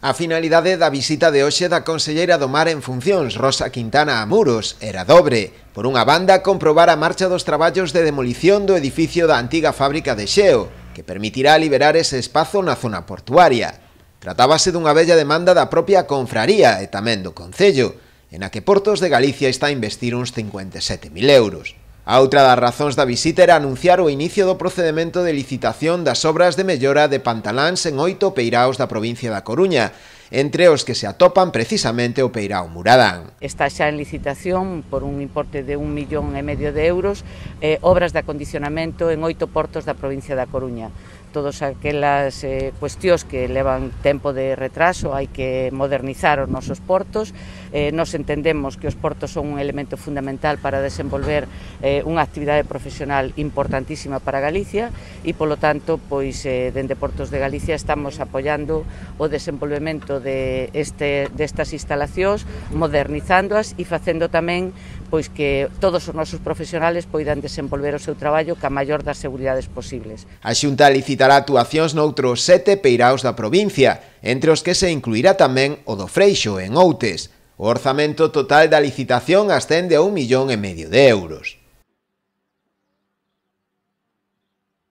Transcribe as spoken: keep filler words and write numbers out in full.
A finalidade da visita de hoxe da conselleira do Mar en funcións, Rosa Quintana a Muros, era dobre. Por unha banda, comprobar a marcha dos traballos de demolición do edificio da antiga fábrica de xeo, que permitirá liberar ese espazo na zona portuaria. Tratábase dunha bella demanda da propia confraría e tamén do Concello, en a que Portos de Galicia está a investir uns cincuenta e sete mil euros. A outra das razóns da visita era anunciar o inicio do procedemento de licitación das obras de mellora de pantaláns en oito peiraos da provincia da Coruña, entre os que se atopan precisamente o peirao Muradán. Está xa en licitación por un importe de un millón e medio de euros eh, obras de acondicionamento en oito portos da provincia da Coruña. Todas aquelas eh, cuestións que levan tempo de retraso, hai que modernizar os nosos portos. Eh, nos entendemos que os portos son un elemento fundamental para desenvolver eh, unha actividade profesional importantísima para Galicia e, polo tanto, pois, eh, dende Portos de Galicia estamos apoiando o desenvolvemento de este, destas instalacións, modernizándoas e facendo tamén pois, que todos os nosos profesionales poidan desenvolver o seu traballo ca maior das seguridades posibles. A Xunta licitará actuacións noutros sete peiraos da provincia, entre os que se incluirá tamén o do Freixo, en Outes. O orzamento total da licitación ascende a un millón e medio de euros.